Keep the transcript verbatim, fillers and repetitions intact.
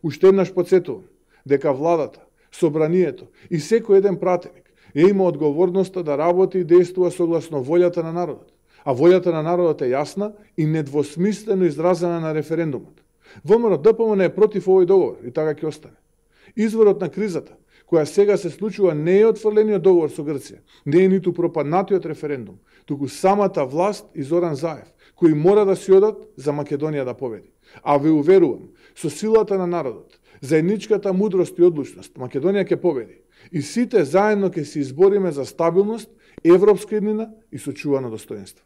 Уште еднаш подсетувам дека владата, собранието и секој еден пратеник ја има одговорноста да работи и действува согласно волјата на народот. А волјата на народот е јасна и недвосмислено изразена на референдумот. ВМРО-ДПМН е против овој договор и така ќе остане. Изворот на кризата, која сега се случува, не е отфрлениот договор со Грција, не е ниту пропаднатиот референдум, туку самата власт и Зоран Заев, кои мора да си одат за Македонија да победи. А ве уверувам, со силата на народот, заедничката мудрост и одлучност, Македонија ќе победи. И сите заедно ќе се избориме за стабилност, европска еднина и сочувано достоинство.